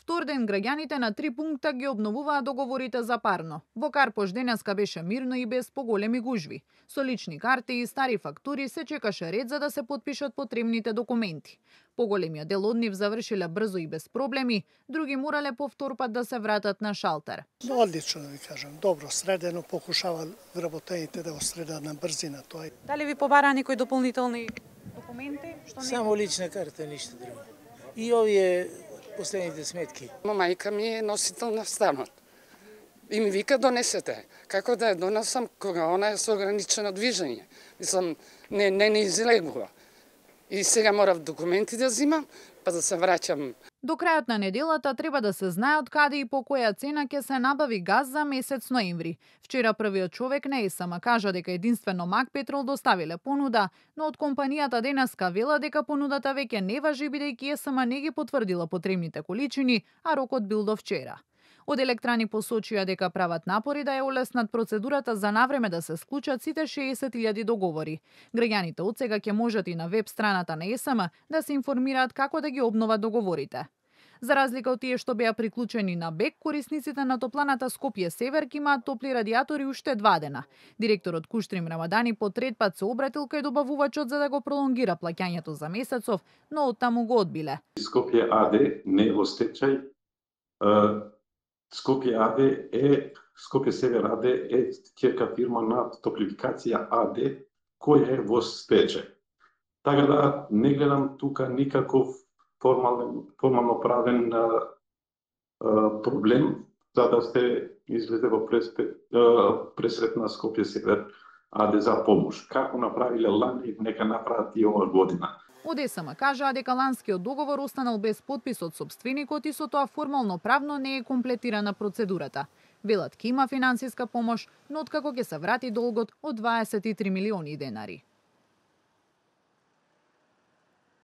Втор ден граѓаните на 3 пункта ги обновуваат договорите за парно. Во Карпош денеска беше мирно и без поголеми гужви. Со лични карти и стари фактури се чекаше ред за да се потпишат потребните документи. Поголемиот дел од нив завршиле брзо и без проблеми, други морале повтор пат да се вратат на шалтер. Одлично да ви кажам, добро средено, покушава вработените да го средат на брзина тоа. Дали ви побара некои дополнителни документи? Само лична карта, ништо друго. И овие последните сметки. Мајка ми е носител на станот. И ми вика донесете. Како да ја донесам кога она е со ограничено движење? Мислам, не излегува. И сега морав документи да зимам, па да се враќам. До крајот на неделата треба да се знае од каде и по која цена ќе се набави газ за месец ноември. Вчера првиот човек на ЕСМ кажа дека единствено Мак Петрол доставиле понуда, но од компанијата денеска вела дека понудата веќе не важи бидејќи ЕСМ не ги потврдила потребните количини, а рокот бил до вчера. Од Електрани посочија дека прават напори да ја олеснат процедурата за навреме да се склучат сите 60.000 договори. Граѓаните отсега ќе можат и на веб страната на ЕСМ да се информираат како да ги обноват договорите. За разлика од тие што беа приклучени на БЕК, корисниците на топланата Скопје Север ќе имаат топли радиатори уште 2 дена. Директорот Куштрим Рамадани по трет пат се обратил кај добавувачот за да го пролонгира плаќањето за месецов, но оттаму го одбиле. Скопје АД не е во стечај. Скопје Север АД е ќерка фирма на Топлификација АД која е во стечај. Така да не гледам тука никаков формално правен проблем за да се излезе во пресрет на Скопје Север АД за помош. Како направиле лани, нека направат и ова година. Од ЕСМ кажаа дека ланскиот договор останал без подпис од сопственикот и со тоа формално правно не е комплетирана процедурата. Велат ќе има финансиска помош, но откако ќе се врати долгот од 23 милиони денари.